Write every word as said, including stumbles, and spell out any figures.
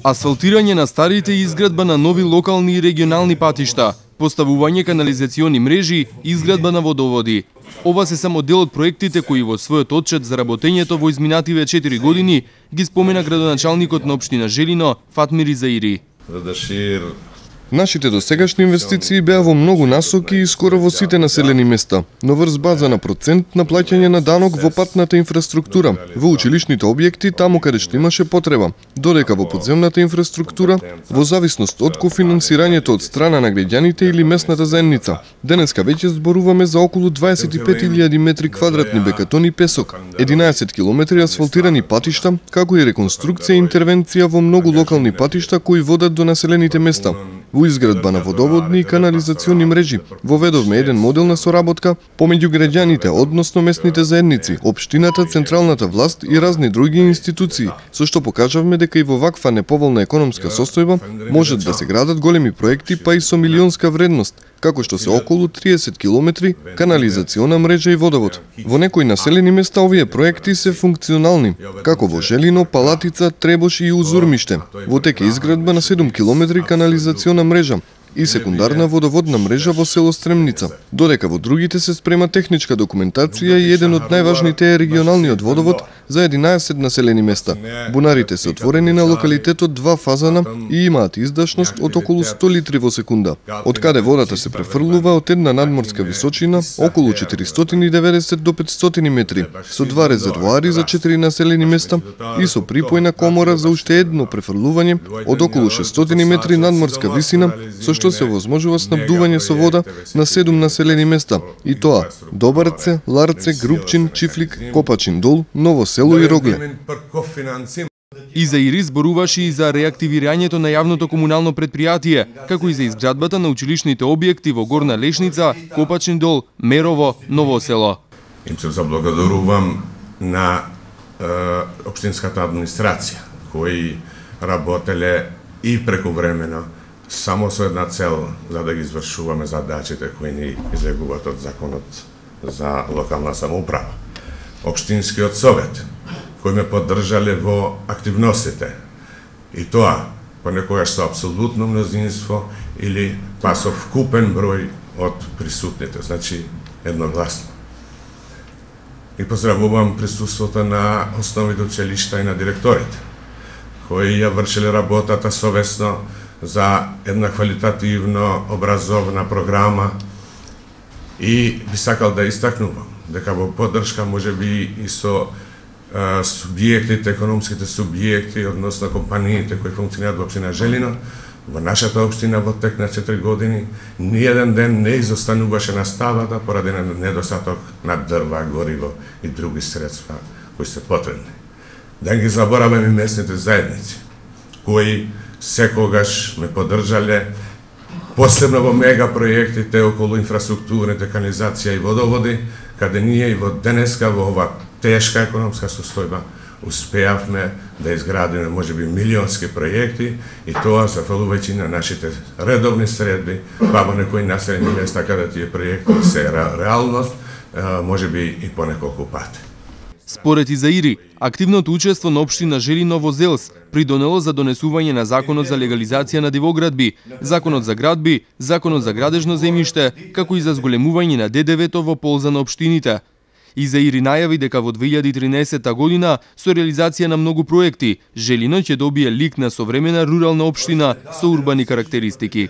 Асфалтирање на старите и изградба на нови локални и регионални патишта, поставување канализациони мрежи, изградба на водоводи. Ова се само дел од проектите кои во својот отчет за работењето во изминативе четири години ги спомена градоначалникот на општина Желино Фатмир Изаири. Нашите досегашни инвестиции беа во многу насоки и скоро во сите населени места, но врз база на процент на плаќање на данок во патната инфраструктура, во училишните објекти таму каде што имаше потреба, додека во подземната инфраструктура, во зависност од кофинансирањето од страна на граѓаните или местната заедница. Денеска веќе зборуваме за околу дваесет и пет илјади метри квадратни бетон и песок, единаесет километри асфалтирани патишта, како и реконструкција и интервенција во многу локални патишта кои водат до населените места. Во изградба на водоводни и канализациони мрежи воведовме еден модел на соработка помеѓу граѓаните, односно местните заедници, општината, централната власт и разни други институции, со што покажавме дека и во ваква неповолна економска состојба можат да се градат големи проекти па и со милионска вредност, како што се околу триесет километри канализациона мрежа и водовод. Во некои населени места овие проекти се функционални, како во Желино, Палатица, Требош и Узурмиште. Во тек е изградба на седум километри канализациона мрежа и секундарна водоводна мрежа во село Стремница, додека во другите се спрема техничка документација и еден од најважните е регионалниот водовод за единаесет населени места. Бунарите се отворени на локалитетот два фазана и имаат издашност од околу сто литри во секунда, од каде водата се префрлува од една надморска височина околу четиристотини и деветдесет до петстотини метри, со два резервоари за четири населени места и со припојна комора за уште едно префрлување од околу шестстотини метри надморска висина, со што се возможува снабдување со вода на седум населени места, и тоа Добарце, Ларце, Групчин, Чифлик, Копачин дол, Ново село и Рогле. Изаири зборуваше и за реактивирањето на јавното комунално предпријатие, како и за изградбата на училишните објекти во Горна Лешница, Копачин дол, Мерово, Ново село. Им се заблагодарувам на е, општинската администрација, кои работеле и прекувремено само со една цел, за да ги извршуваме задачите кои ни излегуваат од законот за локална самоуправа. Општинскиот совет, кои ме поддржале во активностите, и тоа понекогаш со апсолутно мнозинство или па со вкупен број од присутните, значи едногласно. И поздравувам присуството на основните училишта и на директорите, кои ја вршеле работата совесно за една квалитативно образовна програма, и би сакал да истакнувам дека во поддршка можеби и со а, субјектите, економските субјекти, односно компаниите кои функционираат во општина Желино, во нашата општина во тек на четири години ниеден ден не изостануваше на ставата поради недостаток на дрва, гориво и други средства кои се потребни. Да ги забораваме и местните заедници, кои секогаш ме поддржале, посебно во мега проектите околу инфраструктурните, канализација и водоводи, каде ние и во денеска во ова тешка економска состојба успеавме да изградиме можеби милионски проекти, и тоа зафалувајќи на нашите редовни средби, па во некои населени места каде тие проекти се реалност, можеби и по неколку пати. Според Изаири, активното учество на општина Желино во ЗЕЛС придонело за донесување на Законот за легализација на дивоградби, Законот за градби, Законот за градежно земјиште, како и за зголемување на Д Д В-то во полза на општините. Изаири најави дека во две илјади и тринаесетта година со реализација на многу проекти, Желино ќе добие лик на современа рурална општина со урбани карактеристики.